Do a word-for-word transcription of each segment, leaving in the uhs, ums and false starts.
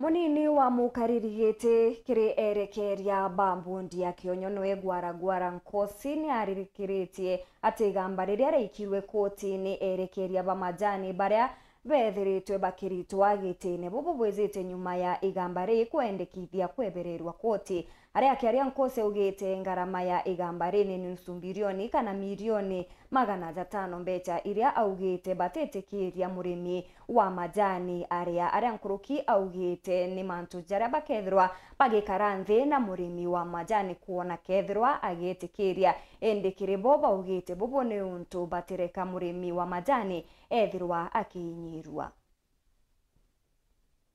Munini wa mukariri giti kiri erekeria ba mbundi ya Kionyo niwe Gwara Gwara Nkosi ni aririkiritie ati igamba riria riaikirwe kotini erekeria ba majani baria beethiritwe bakiritwa gitine bubu bwijite nyuma ya igamba rii kwendekithia kwebererwa koti. Aria akiaria Nkosi augite ngarama ya igamba rii ni nusu mbirioni kana mirioni magana jatano mbecha iria augite batitikiria murimi wa majani aria, aria nkuruki augite ni mantu jaria bakethirwa bagikara nthi na murimi wa majani kwona kethirwa agitikiria. Indi kiri bo baugite bubu ni untu batireka murimi wa majani ethirwa akiinyirua.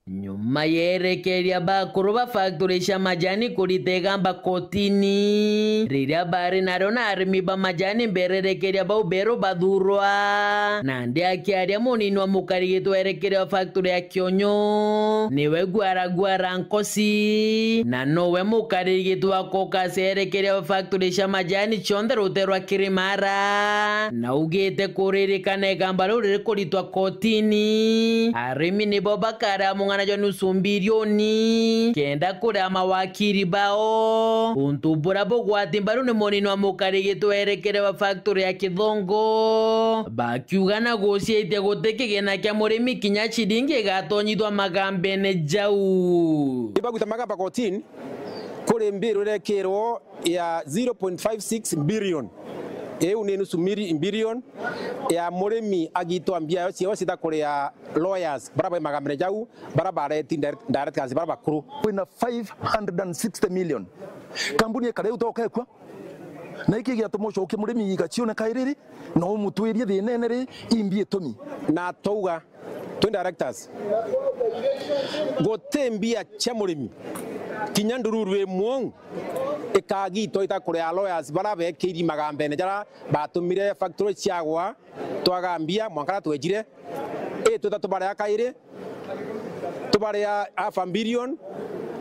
Nyuma ya erekeria bakuru ba factory cia majani kurita igamba kotini, riria bari nario na arimi ba majani mbere erekeria bau beru bathurwa, nandi akiaria munini wa mukarigiti wa erekeria wa factory ya Kionyo, niwe Gwara Gwara Nkosi, na nowe mukarigiti wa caucus ya erekeria wa factory cia majani cionthe rutere rwa Kirimara, na augite kuririkana igamba riu riri kuritwa kotini, arimi nibo bakarea mung'ana jwa nusu mbirioni kenda kuria mawakiri bao, untu buria bugwati mbaru ni munini wa mukarigiti wa erekeria wa factory ya Kithongo, bakiuga na guciitia guti kigina kia murimi kinya ciringi igatonyithwa magambene jau. Ibagwita magamba kotini kuri mbiru irekirwo ya zero point five six billion. Iu ni nusu miri-, billion ya murimi agitwa mbia yo ciao cita kuria lawyers, bara bai magambene jau, bara bareti direct-, directors, bara bakuru. Kwina five hundred and sixty million. Kambuni ikare utokekwa. Na iki giatuma ucokie murimi igacione kairiri, na umutwirie thina ene ri, imbi itumi. Na twauga, twi directors, guti mbia cia murimi, kinya ndururu imwe ikagitwa ita kuria lawyers bara bekiiri magambene jara batumire factory ciagwa, twaga mbia mwanka ra twejire, i twita tubaria kairi, tubaria half a billion,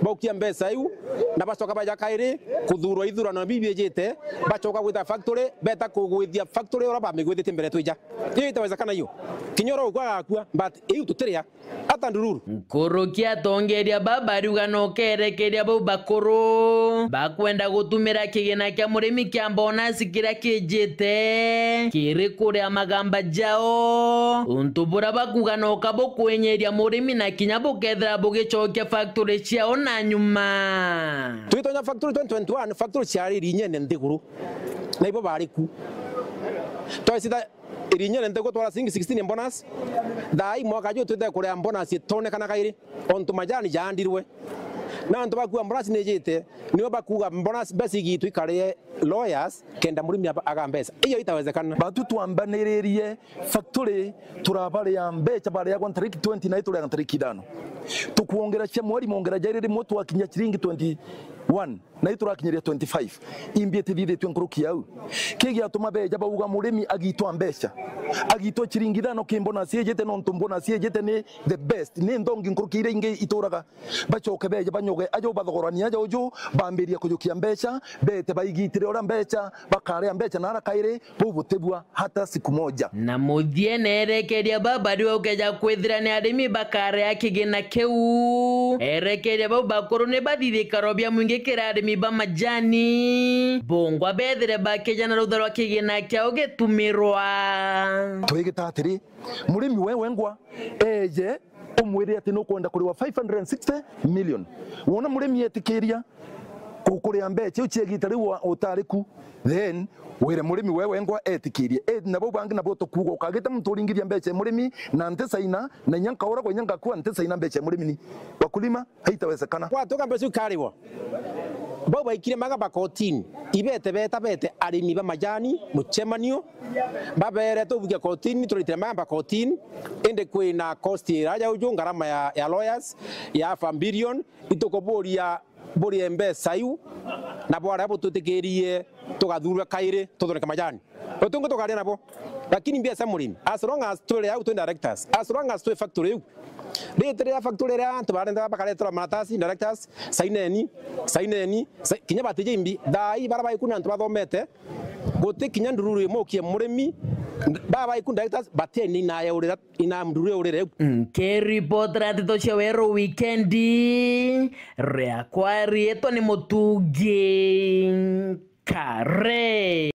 baukia mbeca iu, na bacoka baja kairi kuthurwa ithurano biu biijite, bacoka gwita factory, beta kugwithia factory uria bamigwithitie mbere twija. Iyo itawezekana iyo. Kinya uria ukwa agakua, but iu tutiria. Ata ndururu. Nkuruki atongeria baba ariuga no kerekeria bau bakuru bakwenda gutumira kigina kia murimi kia bonus kiria kijite kiri kuria magamba jao, untu buria bakuga no kabukwenyeria murimi na kinya bukethira bugicokia factory ciao na nyuma. Twitonya factory twenty twenty-one, factory ciari irinyene nthiguru, na ibo bari ku. Twacita irinyene nthiguru twara ciringi sixteen bonus. Thaa ii mwaka juu twite kuria bonus itonekana kairi, ontu majani jaandirwe. Na antu bakua bonus nijite, nibo bakuga bonus mbeca igitwe ikarie lawyers, kenda murimi aba-, aga mbeca. Iyo itawezekana. Batu twambaniririe factory, turabaria mbeca bariagwa ntariki twenty na ituria ntariki ithano. Tukwongera cia mweri mongera jairi rimwe twakinya ciringi twenty-one. Na iturakinyiria twenty-five, imbi itithithitue nkuruki yau. Kigiatuma beja bauga murimi agitwa mbeca, agitwa ciringi ithano ki bonus ijite, nontu bonus ijite ni the best, ni nthongi nkuruki iria ingi ituraga. Bacoke beje banyoge aja ubathogorania aja uju, bambiria kujukia mbeca, bete baigitire uria mbeca, bakaria mbeca na ara kairi, bubutibua hata siku moja. Na muthie nerekeria baba riu ukeja kwithira ni arimi bakarea kigina kiu. Erekeria bau bakuru ni bathithikaro bia mwingi kiri arimi ba majani. Bungwa bethire bakija na rutha rwa kigina kiao gitumirwa. Twigita atiri, murimi we wengwa eje umwire ati nukwenda kuriwa five hundred and sixty million. Wona murimi etikiria kukuria mbeca iu ciegita riu wa-, utari ku, then wire murimi we wengwa etikirie. E, na bau bangi nabo tukuuga ukagita muntu uringithia mbeca ya murimi na ntisaina, na inya nkauragwa inya ngakua ntisaina mbeca ya murimi ni wakulima, haitawezekana. Gwatuka mbeca iu ikariwa. Bau baikire magamba kotini, ibete beta bete arimi ba majani mucemanio, babere tubukia kotini, turitire magamba kotini, indi kwina cost iraja uju, ngarama ya, ya lawyers, ya half a billion, itukuburia burie mbeca iu, na bwaria butwitikirie tugathurwe kairi tuthoneke majani. Utungi tukaria nabo. Lakini mbia cia murimi, as long as twiri au twi directors, as long as twi factory iu, riti ria factory ria antu barenda bakaretera maratasi, directors, saineni, saineni, sa-, kinya batije imbi, thaa ii bara baikuna antu bathomete, guti kinya ndururu imwe ukie murimi Baba iku directors bateni inayaurira, inamdure urire. Nkiripotera nteto cia Weru Wikendi, riakwa riitwa ni Mutungi Kare.